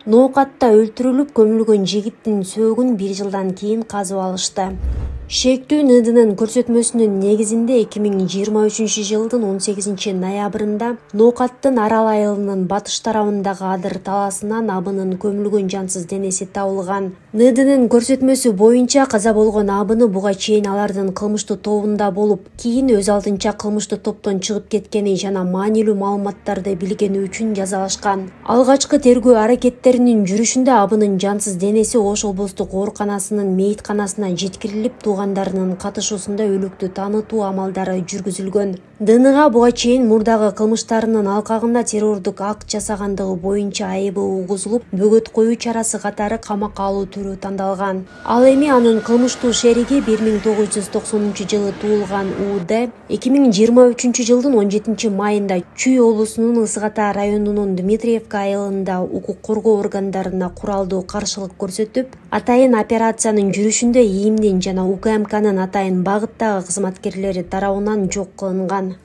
Ноокатта өлтүрүлүп көмүлгөн жигиттин сөөгүн 1 жылдан кийин казып алышты. Шектүү НДнын көрсөтмөсүнүн негизинде 2023 жылдын 18 ноябрында Ноокаттын Арал айылынын батыш тарабындагы Адыр талаасынан абынын көмүлгөн жансыз денеси табылган. НДнын көрсөтмөсү боюнча каза болгон абыны буга чейин алардын кылмыштуу тобунда болуп, кийин өз алдынча кылмыштуу топтон чыгып кеткени жана маанилүү маалыматтарды билгени үчүн жазалашкан. Алгачкы тергөө аракеттеринин жүрүшүндө абынын жансыз денеси Ош облустук ооруканасынын мейитканасына жеткирилип, туугандарынын катышуусунда өлүктү таанытуу амалдары жүргүзүлгөн. ДНга буга чейин мурдагы кылмыштарынын алкагында террордук акт жасагандыгы боюнча айыбы угузулуп, бөгөт коюу чарасы катары камакка алуу түрү тандалган. Ал эми анын кылмыштуу шериги 1990 туулган УД 2023 жылдын 17 майында Чүй облусунун Ысык Ата районунун Дмитриевка айылында укук коргоо органдарына куралдуу каршылык көрсөтүп, атайын операциянын жүрүшүндө ИИМдин жана УКМКнын атайын багыттагы кызматкерлери тарабынан жок кылынган.